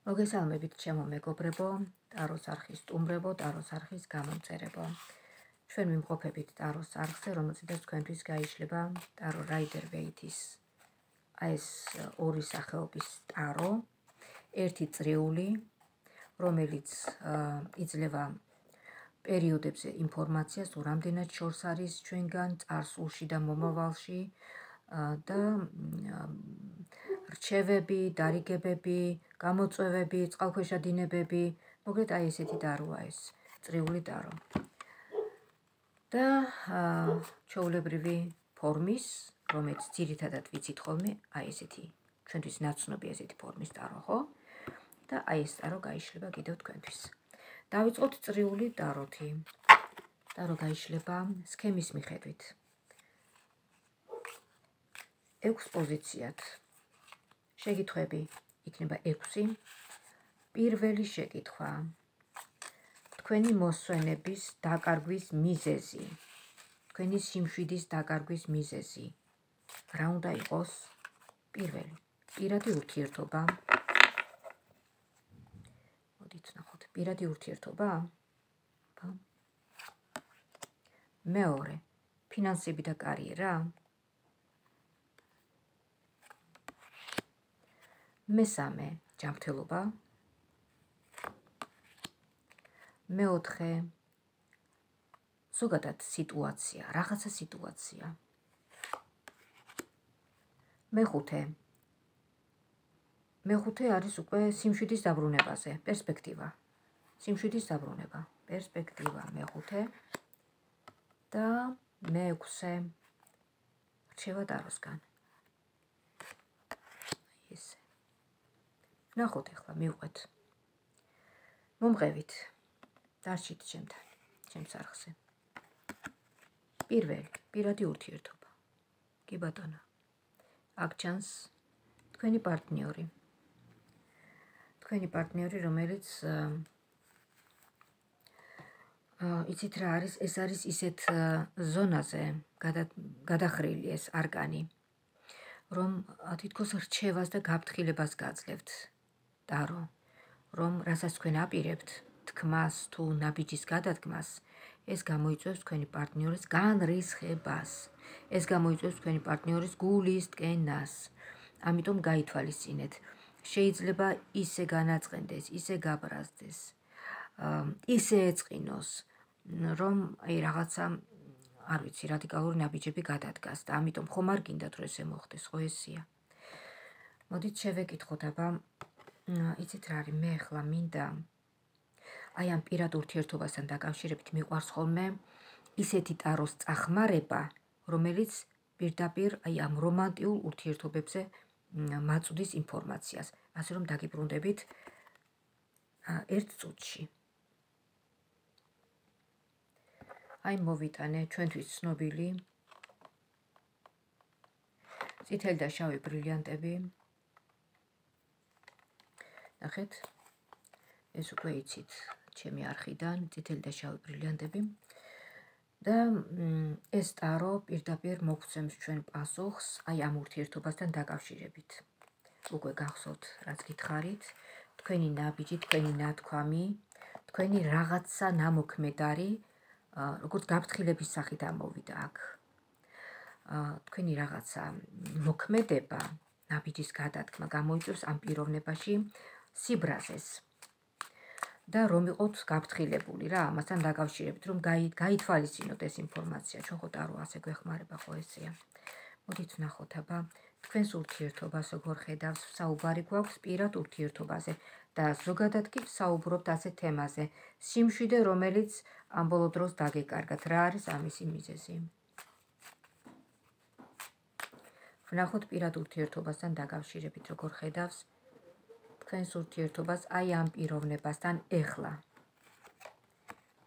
მოგესალმებით ჩემო მეგობრებო, ტაროს არხის სტუმრებო, ტაროს არხის გამომწერებო. ჩვენ ვიმყოფებით ტაროს არხზე, რომელზედაც თქვენთვის გაიშლება ტარო რაიდერ ვეითის ეს ორი სახეობის ტარო, ერთი წრიული, რომელიც იძლევა პერიოდებზე ინფორმაციას, თუ რამდენად შორს არის ჩვენგან წარსულში და მომავალში და რჩევები, დარიგებები, გამოწვევები, წყალქვეშა დინებები, მოკლედ აი ესეთი ტაროა ეს, წრიული ტარო. და ჩვეულებრივი ფორმის, რომელიც ძირითადად ვიცით ხოლმე, აი ესეთი, ჩვენთვის ნაცნობი ესეთი ფორმის ტარო, ხო? და აი ეს ტარო გაიშლება კიდევ თქვენთვის. დავიწყოთ წრიული ტაროთი. ტარო გაიშლება სქემის მიხედვით. 6 პოზიციად. შეკითხვები იქნება 6. პირველი შეკითხვა. თქვენი მოსვენების დაკარგვის მიზეზი. თქვენი სიმშვიდის დაკარგვის მიზეზი. რა უნდა იყოს? პირველი. პირადი ურთიერთობა. მოდით ნახოთ. პირადი ურთიერთობა. მეორე. ფინანსები და კარიერა. მესამე. ჯანმრთელობა. მეოთხე. ზოგადად სიტუაცია, რაღაცა სიტუაცია. მეხუთე. მეხუთე არის უკვე სიმშვიდის დაბრუნებაზე, პერსპექტივა. სიმშვიდის დაბრუნება, პერსპექტივა მეხუთე და მეექვსე. რჩევა ტაროსგან. ესე. ნახოთ ახლა მივყვეთ. მომღებით. დარჩით ჩემთან, ჩემს არხზე. პირველი, პირადი ურთიერთობა. კი ბატონო. აქ ჩანს თქვენი პარტნიორი. თქვენი პარტნიორი, რომელიც იცით რა არის, ეს არის ისეთ ზონაზე გადახრილი ეს არკანი, რომ თითქოს რჩევას და გაფრთხილებას გაძლევთ ტარო, რომ რასაც თქვენ აპირებთ, თქმას თუ ნაბიჯის გადადგმას, ეს გამოიწვევს თქვენი პარტნიორის განრისხებას. ეს გამოიწვევს თქვენი პარტნიორის გულის ტკენას. ამიტომ გაითვალისწინეთ. შეიძლება ისე განაწყენდეს, ისე გაბრაზდეს, ისე ეწყინოს, რომ აი რაღაცა, არ ვიცი, რადიკალური ნაბიჯები გადადგას და ამიტომ ხომ არ გინდათ რომ ესე მოხდეს, ხო ესია. მოდით შევეკითხოთ, აბა, იცით რა არის, მე ახლა მინდა აი ამ პირად ურთიერთობასთან დაკავშირებით მიყვარს ხოლმე ისეთი ტაროს წახმარება, რომელიც პირდაპირ აი ამ რომანტიულ ურთიერთობებზე მაწვდის ინფორმაციას, ასე რომ დაგიბრუნდებით 1 წუთში. აი მოვიტანე ჩვენთვის ცნობილი წითელი და შავი ბრილიანტები. ნახეთ, ეს უკვე იცით ჩემი არხიდან, წითელი და შავი ბრილიანტები. და ეს ტარო პირდაპირ მოგცემს ჩვენ პასუხს აი ამ ურთიერთობასთან დაკავშირებით. უკვე გახსოვთ, რაც გითხარით, თქვენი ნაბიჯი, თქვენი ნათქვამი, თქვენი რაღაცა ნამოქმედარი, როგორც გაფრთხილების სახით ამოვიდა აქ. თქვენი რაღაცა მოქმედება, ნაბიჯის გადადგმა გამოიწვევს ამ პიროვნებაში სიბრაზეს. და რომ იყოთ გაფრთხილებული რა, ამასთან დაკავშირებით, რომ გაითვალისწინოთ ეს ინფორმაცია, ჩვენ ხო ტარო ასე გვეხმარება, ხო ესეა. მოდით ვნახოთ, აბა, თქვენს ურთიერთობას როგორ ხედავს, საუბარი გვაქვს პირად ურთიერთობაზე და ზოგადად კი საუბრობთ ასე თემაზე, სიმშვიდე, რომელიც ამ ბოლო დროს დაგეკარგათ, რა არის ამისი მიზეზი. ვნახოთ პირად ურთიერთობასთან დაკავშირებით, როგორ ხედავს თქვენს ურთიერთობას აი ამ პიროვნებასთან ეხლა.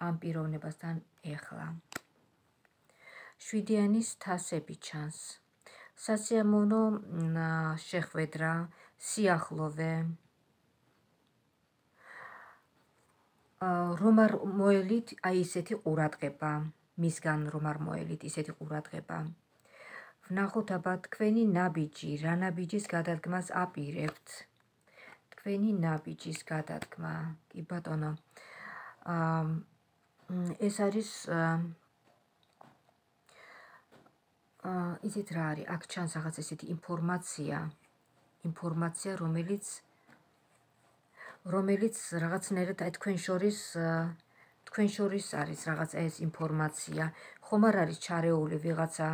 ამ პიროვნებასთან ეხლა. 7-იანის თასები ჩანს. სასიამოვნო შეხვედრა, სიახლოვე. რომ არ მოელით აი ისეთი ყურადღება, მისგან რომ არ მოელით ისეთი ყურადღება. ვნახოთ აბა თქვენი ნაბიჯი, რა ნაბიჯის გადადგმას აპირებთ. თქვენი ნაბიჯის გადადგმა. კი ბატონო. ეს არის იცით რა არის? აქ ჩანს რაღაც ესეთი ინფორმაცია, რომელიც რაღაცნაირად თქვენ შორის არის რაღაც ეს ინფორმაცია. ხომ არ არის ჩარეული ვიღაცა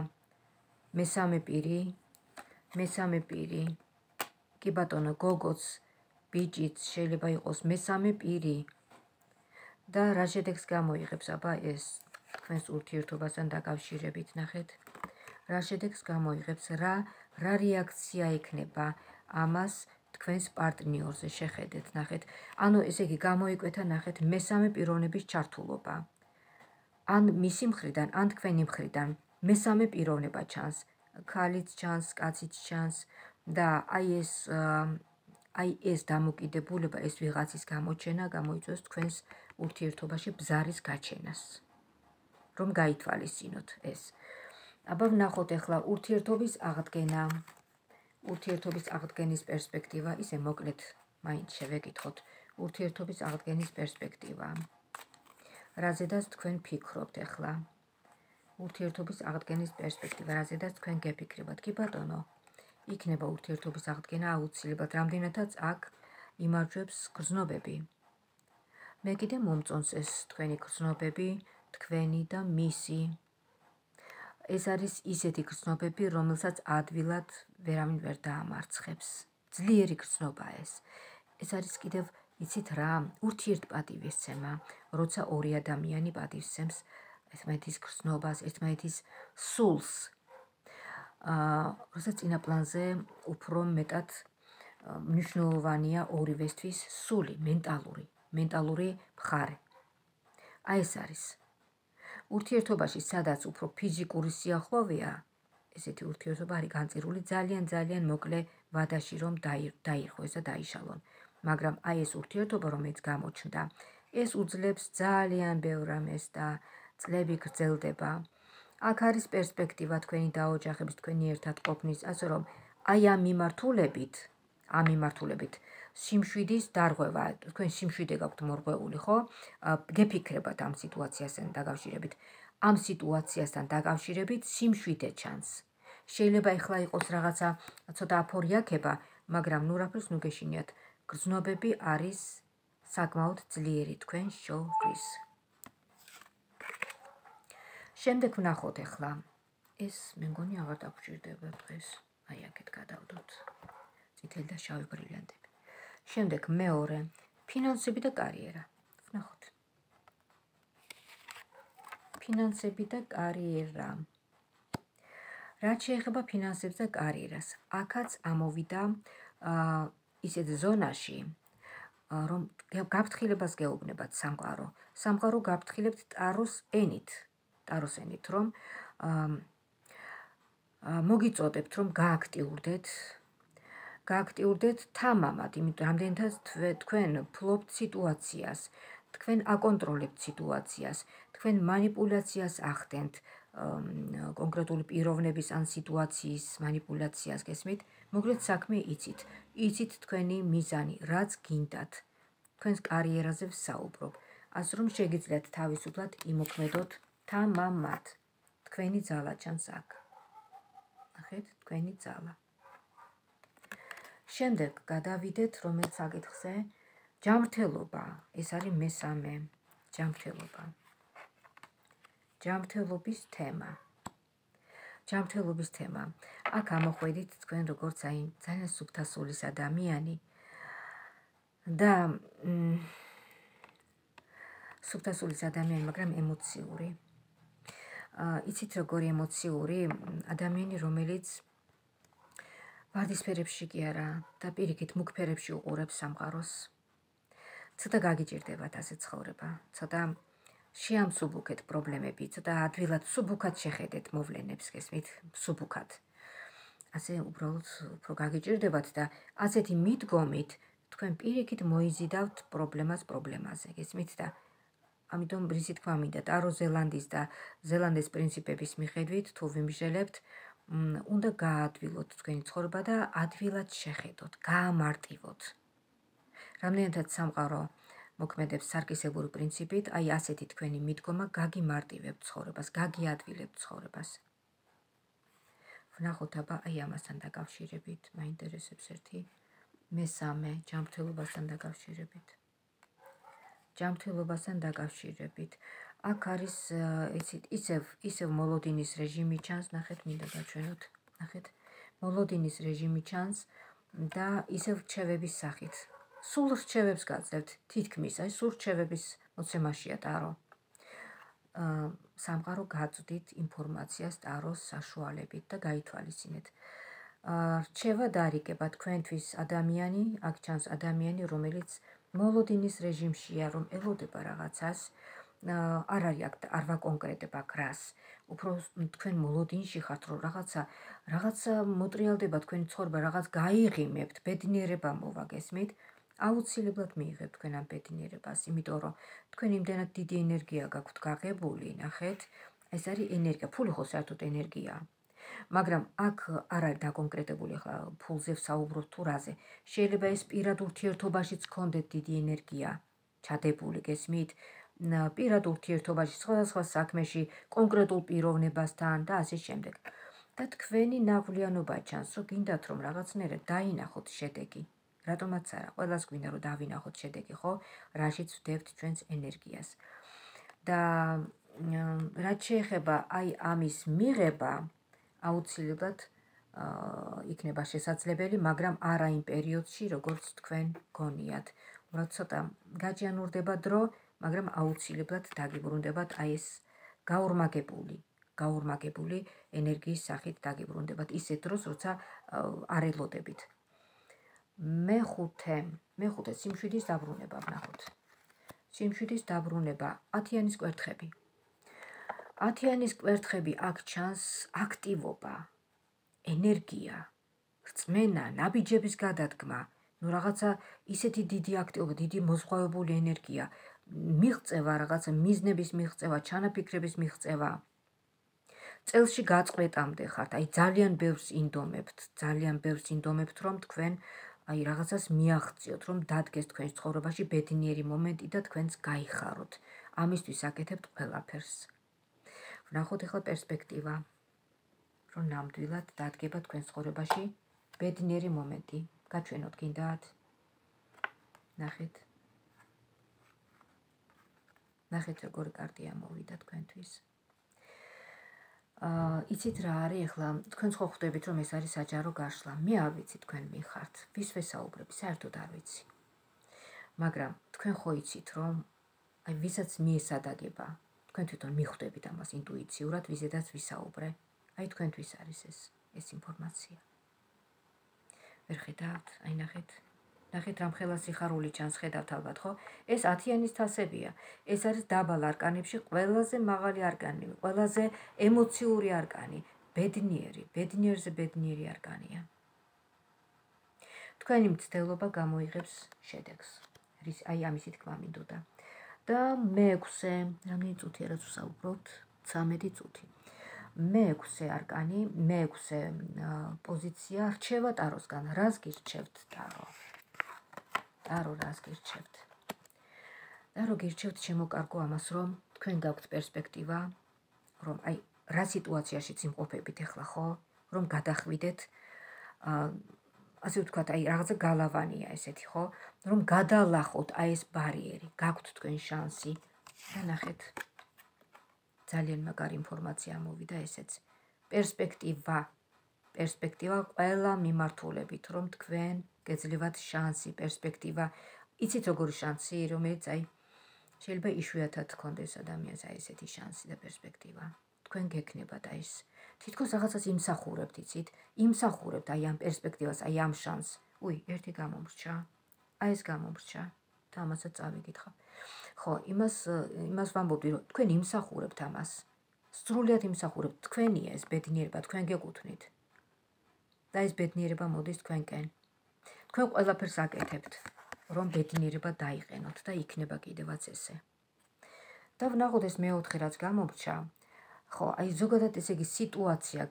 მესამე პირი. კი ბატონო, გოგოც, ბიჭიც შეიძლება იყოს მესამე პირი. და რა შედეგს გამოიღებს აბა ეს თქვენს ურთიერთობასთან დაკავშირებით, ნახეთ. რა შედეგს გამოიღებს, რა რეაქცია ექნება ამას თქვენს პარტნიორზე, შეხედეთ, ნახეთ. ანუ ესე იგი გამოიკვეთა, ნახეთ, მესამე პიროვნების ჩართულობა. ან მისი მხრიდან, ან თქვენი მხრიდან მესამე პიროვნება ჩანს. ქალიც ჩანს, კაციც ჩანს და აი ეს დამოკიდებულება, ეს ვიღაცის გამოჩენა გამოიწვევს თქვენს ურთიერთობაში ბზარის გაჩენას. რომ გაითვალისწინოთ ეს. აბა ვნახოთ ახლა ურთიერთობის აღდგენის პერსპექტივა, ისე მოკლედ მაინც შევეკითხოთ. ურთიერთობის აღდგენის პერსპექტივა. რაზედაც თქვენ ფიქრობთ ახლა? ურთიერთობის აღდგენის პერსპექტივა, რაზედაც თქვენ გეფიქრებათ? კი ბატონო, იქნება ურთიერთობის აღდგენა აუცილებლად, რამდენადაც აქ იმარჯვებს გრძნობები. მე კიდე მომწონს ეს თქვენი გრძნობები, თქვენი და მისი. ეს არის ისეთი გრძნობები, რომელსაც ადვილად ვერავინ ვერ დაამარცხებს. ძლიერი გრძნობაა ეს. ეს არის კიდევ, იცით რა, ურთიერთპატივისცემა, როცა ორი ადამიანი პატივისცემს ერთმანეთის გრძნობას, ერთმანეთის სულს. როცა წინა პლანზე უფრო მეტად მნიშვნელოვანია ორივესთვის სული, მენტალური მხარე. აი ეს არის. ურთიერთობაში, სადაც უფრო ფიზიკური სიახლოვეა, ესეთი ურთიერთობა არის განწირული ძალიან მოკლე ვადაში, რომ დაირღვეს და დაიშალონ. მაგრამ აი ეს ურთიერთობა, რომელიც გამოჩნდა, ეს უძლებს ძალიან ბევრ რამეს და წლები გრძელდება. აქ არის პერსპექტივა თქვენი დაოჯახების, თქვენი ერთად ყოფნის, ასე რომ აი ამ მიმართულებით სიმშვიდის დარღვევა, თქვენ სიმშვიდე გაქვთ მორღვეული, ხო? გეფიქრებათ ამ სიტუაციასთან დაკავშირებით. ამ სიტუაციასთან დაკავშირებით სიმშვიდე ჩანს. შეიძლება ეხლა იყოს რაღაცა ცოტა აფორიაქება, მაგრამ ნუ რაფერს ნუ გეშინიათ. გრძნობები არის საკმაოდ ძლიერი თქვენ შორის. შემდეგ ვნახოთ ახლა. ეს მე მგონი აღარ დაგჭირდება დღეს. აი აქეთ გადავდოთ. წითელი და შავი ბრილიანტები. შემდეგ მეორე, ფინანსები და კარიერა. ვნახოთ. ფინანსები და კარიერა. რაც შეეხება ფინანსებს და კარიერას, აქაც ამოვიდა ისეთ ზონაში, რომ გაფრთხილებას გეუბნებათ სამყარო. სამყარო გაფრთხილებთ ტაროს ენით, რომ მოგიწოდებთ, რომ გააქტიურდეთ თამამად, იმიტომ რამდენადაც თქვენ ფლობთ სიტუაციას, თქვენ აკონტროლებთ სიტუაციას, თქვენ მანიპულაციას ახდენთ, კონკრეტული პიროვნების ან სიტუაციის მანიპულაციას გესმით, მოკლედ საქმე იცით თქვენი მიზანი, რაც გინდათ, თქვენს კარიერაზე ვსაუბრობ, ასე რომ შეგიძლიათ თავისუფლად იმოქმედოთ თამამად, თქვენი ძალა ჩანს აქ. ნახეთ, თქვენი ძალა. შემდეგ გადავიდეთ რომელიც საკითხზე, ჯანმრთელობა, ეს არის მესამე, ჯანმრთელობა. ჯანმრთელობის თემა. აქ ამოხვედით თქვენ როგორც აი ძალიან სუფთა სულის ადამიანი და სუფთა სულის ადამიანი, მაგრამ ემოციური. იცით როგორი ემოციური ადამიანი, რომელიც ვარდისფერებში კი არა და პირიქით მუქ ფერებში უყურებს სამყაროს. ცოტა გაგიჭირდებათ ასე ცხოვრება, ცოტა შეამსუბუქეთ პრობლემები, ცოტა ადვილად სუბუქად შეხედეთ მოვლენებს, გესმით, სუბუქად. ასე უბრალოდ უფრო გაგიჭირდებათ და ასეთი მიდგომით თქვენ პირიქით მოიზიდავთ პრობლემაზე, გესმით და ამიტომ რისი თქვა მინდა, ტარო ზელანდის და ზელანდის პრინციპების მიხედვით თუ ვიმსჯელებთ, უნდა გაადვილოთ თქვენი ცხოვრება და ადვილად შეხედოთ, გაამარტივოთ. რამდენადაც სამყარო მოქმედებს სარკისებური პრინციპით, აი ასეთი თქვენი მიდგომა გაგიმარტივებთ ცხოვრებას, გაგიადვილებთ ცხოვრებას. ვნახოთ აბა აი ამასთან დაკავშირებით, მაინტერესებს ერთი მესამე ჯანმრთელობასთან დაკავშირებით. ჯანმრთელობასთან დაკავშირებით. აქ არის ისევ მოლოდინის რეჟიმი ჩანს, ნახეთ, მინდა გაჩვენოთ, ნახეთ, მოლოდინის რეჟიმი ჩანს და ისევ რჩევების სახით. სულ რჩევებს გაძლევთ, თითქმის, აი სულ რჩევების მოცემაშია ტარო. სამყარო გაწვდით ინფორმაციას ტაროს საშუალებით და გაითვალისწინეთ. რჩევა დაარიგება თქვენთვის ადამიანი, აქ ჩანს ადამიანი, რომელიც მოლოდინის რეჟიმშია, რომ ელოდება რაღაცას, არ არის აქ არ ვაკონკრეტებ აქ რას. უფრო თქვენ მოლოდინში ხართ, რომ რაღაცა მოტრიალდება თქვენი ცხოვრება, რაღაც გაიღიმებთ, ბედნიერება მოვა, გესმით? აუცილებლად მიიღებთ თქვენ ამ ბედნიერებას, იმიტომ რომ თქვენ იმდენად დიდი ენერგია გაქვთ გაღებული, ნახეთ, ეს არის ენერგია, ფული ხო საერთოდ ენერგიაა. მაგრამ აქ არ არის დაკონკრეტებული ახლა ფულზე ვსაუბრობთ თუ რაზე. შეიძლება ეს პირად ურთიერთობაშიც გქონდეთ დიდი ენერგია ჩადებული, გესმით? პირად ურთიერთობაში, სხვადასხვა საქმეში, კონკრეტულ პიროვნებასთან და ასე შემდეგ. და თქვენი ნაღვლიანობა ჩანს, რომ გინდათ რომ რაღაცნაირად დაინახოთ შედეგი. რატომაც არა, ყველას გვინდა რომ დავინახოთ შედეგი, ხო? რაშიც ვდებთ ჩვენს ენერგიას. და რაც შეეხება აი ამის მიღება, აუცილებლად იქნება შესაძლებელი, მაგრამ არა იმ პერიოდში, როგორც თქვენ გონიათ. უბრალოდ ცოტა გაჯანურდება დრო, მაგრამ აუცილებლად დაგიბრუნდებათ აი ეს გაორმაგებული ენერგიის სახით დაგიბრუნდებათ ისეთ დროს, როცა არ ელოდებით. მეხუთე სიმშვიდის დაბრუნება ვნახოთ. სიმშვიდის დაბრუნება, 10-იანის კვერთხები. 10-იანის კვერთხები აქ ჩანს აქტივობა, ენერგია, რწმენა, ნაბიჯების გადადგმა, რაღაცა ისეთი დიდი აქტივობა, დიდი მოზღვავებული ენერგია, მიღწევა, რაღაცა მიზნების მიღწევა, ჩანაფიქრების მიღწევა. წელში გაწყვეტამდე ხართ, აი ძალიან ბევრს ინდომებთ, რომ თქვენ აი რაღაცას მიაღწიოთ, რომ დადგეს თქვენს ცხოვრებაში ბედნიერი მომენტი და თქვენს გაიხაროთ. ამისთვის აკეთებთ ყველაფერს. ვნახოთ ახლა პერსპექტივა, რომ ნამდვილად დადგება თქვენს ცხოვრებაში ბედნიერი მომენტი. გაჩვენოთ გინდათ? ნახეთ. ნახეთ როგორი კარტია მოვიდა თქვენთვის. იცით რა არის ახლა, თქვენ ხო ხვდებით რომ ეს არის საჯარო გაშლა. მე არ ვიცი თქვენ მიხართ, ვის ვესაუბრებ, საერთოდ არ ვიცი. მაგრამ თქვენ ხო იცით რომ აი ვისაც მიესადაგება, თქვენ თვითონ მიხვდებით ამას ინტუიციურად, ვიზედაც ვისაუბრე. აი თქვენთვის არის ეს ინფორმაცია. ვერ ხედავთ? აი ნახეთ. ნახეთ რამ ხელა სიხარული ჩანს, ხედავთ ალბათ, ხო? ეს 10-იანის თასებია. ეს არის დაბალ არკანებში ყველაზე მაღალი არკანი, ყველაზე ემოციური არკანი, ბედნიერზე ბედნიერი არკანია. თქვენი მცდელობა გამოიღებს შედეგს. აი ამისი თქმა მინდოდა. და მე-6, რამდენი წუთია რაც ვსაუბრობთ? 13 წუთი. მე-6 არკანი, მე-6 პოზიცია რჩევა ტაროსგან. რას გირჩევთ ტარო? ტარო რას გირჩევთ? ტარო გირჩევთ შემოკარგო ამას, რომ თქვენ გაქვთ პერსპექტივა, რომ აი რა სიტუაციაში იმყოფებით ახლა, ხო? რომ გადახვიდეთ, ასე ვთქვათ, აი რაღაცა გალავანია ესეთი, ხო? რომ გადალახოთ აი ეს ბარიერი, გაქვთ თქვენ შანსი. და ნახეთ. ძალიან მაგარი ინფორმაცია მოვიდა ესეც. პერსპექტივა ყველა მიმართულებით, რომ თქვენ გეძლევათ შანსი, პერსპექტივა. იცით როგორი შანსი, რომელიც აი შეიძლება იშვიათად გქონდეს ადამიანს აი ესეთი შანსი და პერსპექტივა. თქვენ გექნებათ აი ეს. თითქოს რაღაცას იმსახურებთ, იცით? იმსახურებთ აი ამ პერსპექტივას, აი ამ შანსს. ერთი გამომრჩა. აი ეს გამომრჩა. და ამასაც წავიკითხავ. ხო, იმას ვამბობდი, რომ თქვენ იმსახურებთ ამას. სრულიად იმსახურებთ, თქვენია ეს ბედნიერება, თქვენ გეკუთვნით. და ეს ბედნიერება მოდის თქვენკენ. თქვენ ყველაფერს აკეთებთ, რომ ბედნიერება დაიყენოთ და იქნება კიდევაც ესე. და ვნახოთ ეს მე-4 რაც გამომრჩა. ხო, აი ზოგადად ესე იგი სიტუაცია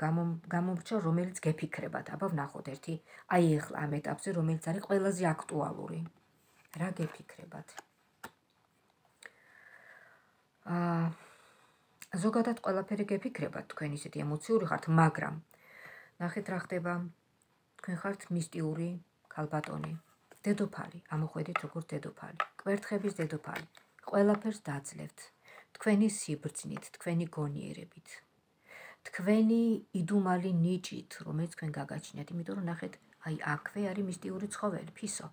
გამომრჩა, რომელიც გეფიქრებათ. აბა ვნახოთ ერთი, აი ახლა ამ ეტაპზე, რომელიც არის ყველაზე აქტუალური. რა გეფიქრებათ? ზოგადად ყველაფერი გეფიქრებათ, თქვენ ისეთი ემოციური ხართ, მაგრამ ნახეთ რა ხდება, თქვენ ხართ მისტიური ქალბატონი, დედოფალი, ამოხვედით როგორც დედოფალი, კვერთხების დედოფალი, ყველაფერს დაძლევთ, თქვენი სიბრძნით, თქვენი გონიერებით, თქვენი იდუმალი ნიჭით, რომელიც თქვენ გაგაჩნიათ, იმიტომ რომ ნახეთ, აი აქვე არის მისტიური ცხოველი, ფისო.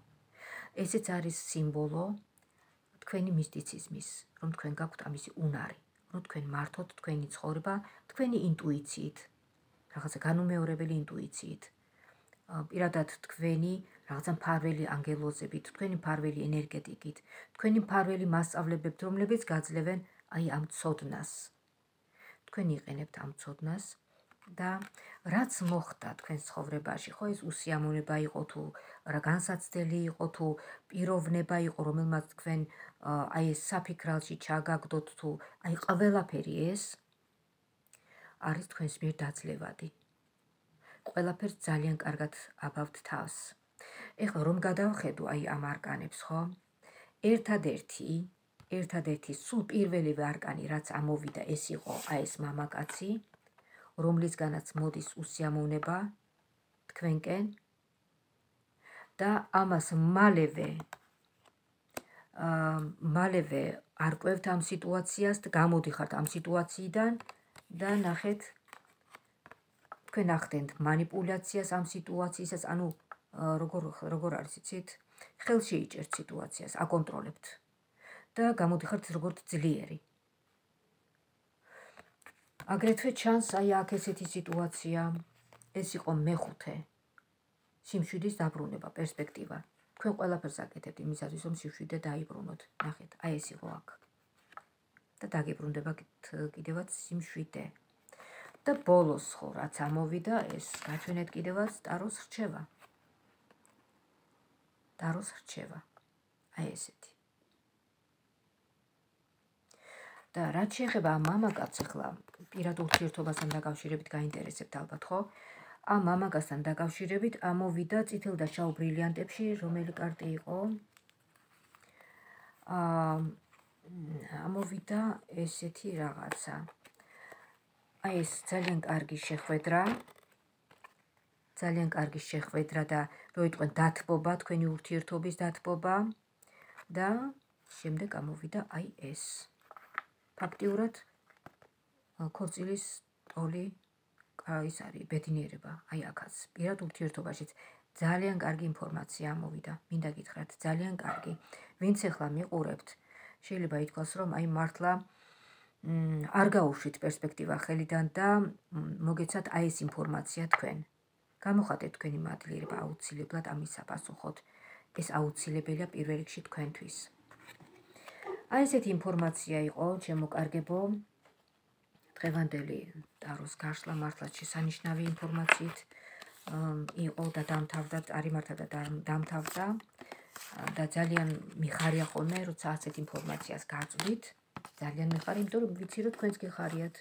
ესეც არის სიმბოლო თქვენი მისტიციზმის, რომ თქვენ გაქვთ ამისი უნარი, რომ თქვენ მართოთ თქვენი ცხოვრება, თქვენი ინტუიციით, რაღაცა განუმეორებელი ინტუიციით, პირადად თქვენი რაღაცა მფარველი ანგელოზებით, თქვენი მფარველი ენერგეტიკით, თქვენი მფარველი მასწავლებლებთ, რომლებიც გაძლევენ აი ამ ცოდნას. თქვენ იყენებთ ამ ცოდნას და რაც მოხდა თქვენ ცხოვრებაში, ხო ეს უსიამოვნება იყო თუ რა განსაცდელი იყო თუ პიროვნება იყო, რომელმაც თქვენ აი ეს საფიქრალში ჩაგაგდოთ თუ აი ყველაფერი ეს არის თქვენს მიერ დაძლევადი. ყველაფერს ძალიან კარგად აბავთ თავს. ეხლა რომ გადავხედო აი ამ არკანებს, ხო? ერთადერთი სულ პირველივე არკანი, რაც ამოვიდა, ეს იყო აი ეს მამაკაცი, რომლისგანაც მოდის უსიამოვნება თქვენკენ და ამას მალევე არკვევთ ამ სიტუაციას და გამოდიხართ ამ სიტუაციიდან და ნახეთ თქვენ ახდენთ მანიპულაციას ამ სიტუაციისას, ანუ როგორ არის იცით, ხელში იჭერთ სიტუაციას, აკონტროლებთ და გამოდიხართ როგორც ძლიერი. აგრეთვე ჩანს აი აქ ესეთი სიტუაცია, ეს იყო მეხუთე სიმშვიდის დაბრუნება, პერსპექტივა. თქვენ ყველაფერს აკეთებთ იმისათვის, რომ სიმშვიდე დაიბრუნოთ. ნახეთ, აი ეს იყო აქ. და დაგიბრუნდება კიდევაც სიმშვიდე. და ბოლოს ხო, რაც ამოვიდა, ეს გაჩვენეთ კიდევაც ტაროს რჩევა. ტაროს რჩევა. აი ესეთი. და რაც შეეხება ამ მამაკაცს, ახლა პირად ურთიერთობასთან დაკავშირებით გაინტერესებთ ალბათ, ხო? ამ მამაკაცთან დაკავშირებით ამოვიდა წითელ და შავ ბრილიანტებში, რომელი კარტი იყო? ამოვიდა ესეთი რაღაცა. აი ეს ძალიან კარგი შეხვედრა და რო იტყვენ დათბობა, თქვენი ურთიერთობის დათბობა და შემდეგ ამოვიდა აი ეს. ფაქტიურად ქორწილის ტოლი ის არის ბედნიერება, აი აქაც. პირად ურთიერთობაშიც ძალიან კარგი ინფორმაცია ამოვიდა. მინდა გითხრათ, ძალიან კარგი. ვინც ახლა მიყურებთ, შეიძლება ითქვას, რომ აი მართლა არ გაუშვით პერსპექტივა ხელიდან და მოგეცათ აი ეს ინფორმაცია თქვენ. გამოხატეთ თქვენი მადლიერება აუცილებლად ამის საპასუხოდ. ეს აუცილებელია პირველ რიგში თქვენთვის. აი ესეთი ინფორმაცია იყო, ჩემო კარგებო, დღევანდელი ტაროს გაშლა მართლაც შესანიშნავი ინფორმაციით იყო და დამთავრდა, წარიმართა და დამთავრდა და ძალიან მიხარია ხოლმე, როცა ასეთ ინფორმაციას გაწვდით. ძალიან მიხარია, იმიტომ რომ ვიცი, რომ თქვენს გიხარიათ.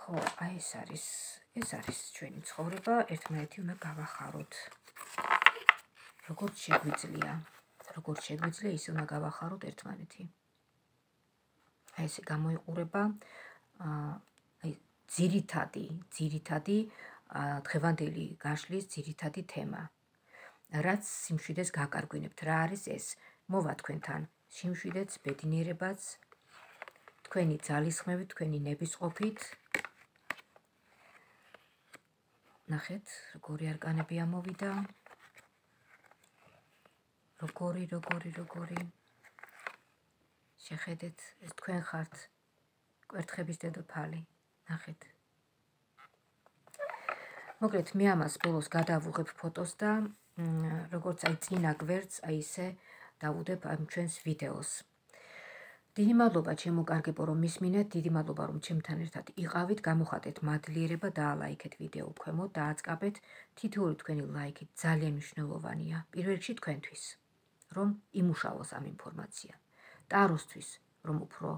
ხო, აი ეს არის ჩვენი ცხოვრება, ერთმანეთი უნდა გავახაროთ. როგორც შეგვიძლია, ისე უნდა გავახაროთ ერთმანეთი. აი ესე გამოიყურება აი ძირითადი დღევანდელი გაშლის ძირითადი თემა. რაც სიმშვიდეს გაკარგვინებთ, რა არის ეს? მოვა თქვენთან სიმშვიდეც, ბედნიერებაც, თქვენი ძალისხმევით, თქვენი ნებისყოფით. ნახეთ, როგორი არკანები ამოვიდა. როგორი. შეხედეთ, ეს თქვენ ხართ კვერთხების დედოფალი. ნახეთ. მოკლედ, მე ამას ბოლოს გადავუღებ ფოტოს და როგორც აი წინა გვერდს, აი ისე დავუდებ ამ ჩვენს ვიდეოს. დიდი მადლობა ჩემო კარგებო, რომ მისმინეთ, დიდი მადლობა რომ ჩემთან ერთად იყავით, გამოხატეთ მადლიერება, დაალაიქეთ ვიდეო ქვემოთ, დააწყაბეთ. თითოეული თქვენი ლაიქი ძალიან მნიშვნელოვანია, პირველ რიგში თქვენთვის, რომ იმუშაოს ამ ინფორმაცია. ტაროსთვის, რომ უფრო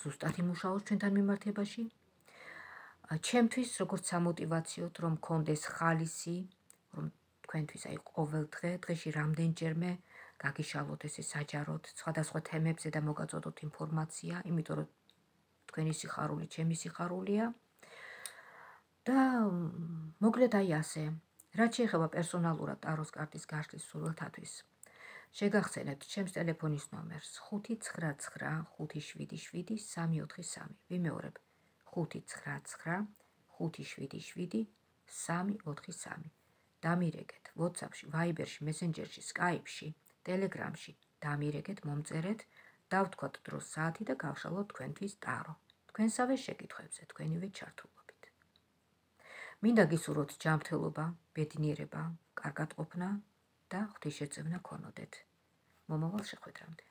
ზუსტად იმუშაოს ჩვენთან მიმართებაში. ჩემთვის, როგორც სამოტივაციოდ, რომ მქონდეს ხალისი, რომ თქვენთვის, აი ყოველ დღეში რამდენჯერმე გაგიშალოთ ესე საჯაროდ სხვადასხვა თემებზე და მოგაწოდოთ ინფორმაცია, იმიტომ რომ თქვენი სიხარული ჩემი სიხარულია. და მოკლედ აი ასე. რაც შეეხება პერსონალურად ტაროს კარტის გაშლის სურვილთათვის, შეგახსენებთ ჩემს ტელეფონის ნომერს 599577343. ვიმეორებ 599577343. დამირეკეთ WhatsApp-ში, Viber-ში, Messenger-ში, Skype-ში, Telegram-ში, დამირეკეთ, მომწერეთ, დავთქვათ დროს, საათი და გავშალოთ თქვენთვის ტარო. თქვენსავე შეკითხვებზე, თქვენივე ჩართულობით. მინდა გისურვოთ ჯანმრთელობა, ბედნიერება, კარგად ყოფნა და ღვთისშეწევნა გქონოდეთ. მომავალ შეხვედრამდე.